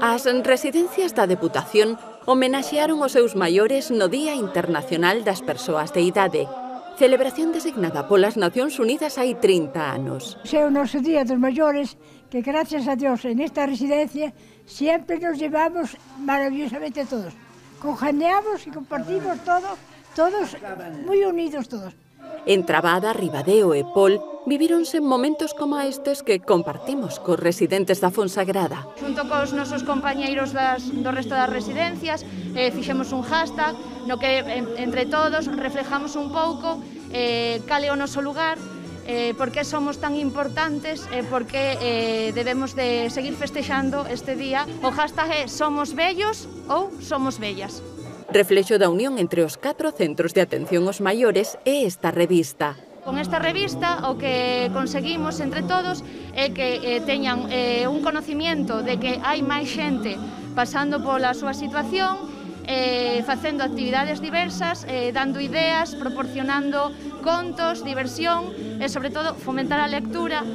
As residencias da Deputación homenaxearon os seus maiores no Día Internacional das Persoas de Idade, celebración designada polas Nacións Unidas hai 30 anos. É o noso Día dos Maiores, que gracias a Dios en esta residencia sempre nos llevamos maravillosamente todos. Conjaneamos e compartimos todos moi unidos todos. En Trabada, Ribadeo e Pol vivíronse momentos como estes que compartimos cos residentes da Fonsagrada. Xunto cos nosos compañeiros do resto das residencias fixemos un hashtag no que entre todos reflejamos un pouco cal é o noso lugar, por que somos tan importantes e por que debemos de seguir festexando este día. O hashtag é Somos Vellos ou Somos Vellas. Reflexo da unión entre os 4 centros de atención aos maiores e esta revista. Con esta revista o que conseguimos entre todos é que teñan un conocimiento de que hai máis xente pasando pola súa situación, facendo actividades diversas, dando ideas, proporcionando contos, diversión e, sobre todo, fomentar a lectura,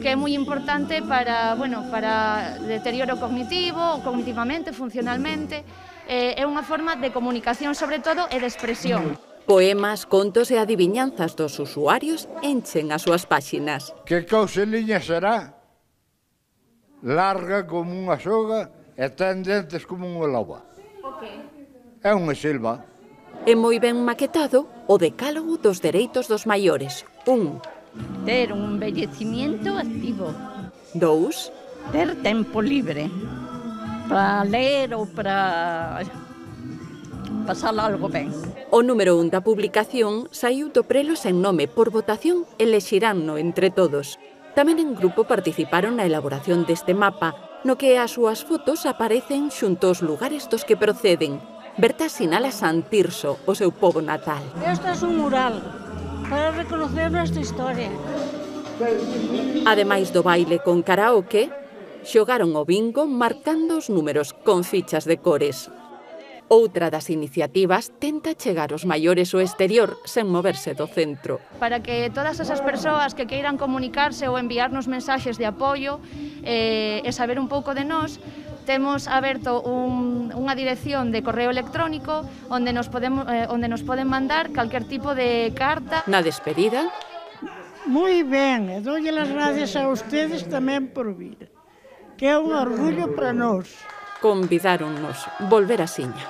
que é moi importante para deterioro cognitivo, cognitivamente, funcionalmente. É unha forma de comunicación, sobre todo, e de expresión. Poemas, contos e adiviñanzas dos usuarios enchen as súas páxinas. Que causeliña será? Larga como unha soga e ten dentes como unha loba. É unha selva. É moi ben maquetado o decálogo dos dereitos dos maiores. 1. Ter un envellecimiento activo. 2. Ter tempo libre para ler ou para pasar algo ben. O número 1 da publicación saiu do prelo sen nome por votación e lexiránno entre todos. Tamén en grupo participaron na elaboración deste mapa, no que as súas fotos aparecen xunto aos lugares dos que proceden. Berta sinala San Tirso, o seu pobo natal. Este é un mural para reconocer nuestra historia. Ademais do baile con karaoke, xogaron o bingo marcando os números con fichas de cores. Outra das iniciativas tenta chegar aos maiores ao exterior sen moverse do centro. Para que todas esas persoas que queiran comunicarse ou enviarnos mensaxes de apoio e saber un pouco de nós, temos aberto unha dirección de correo electrónico onde nos poden mandar calquer tipo de carta. Na despedida, Moi ben, e doulle as gracias a ustedes tamén por vir, que é un orgullo para nós. convidáronnos volver a Siña.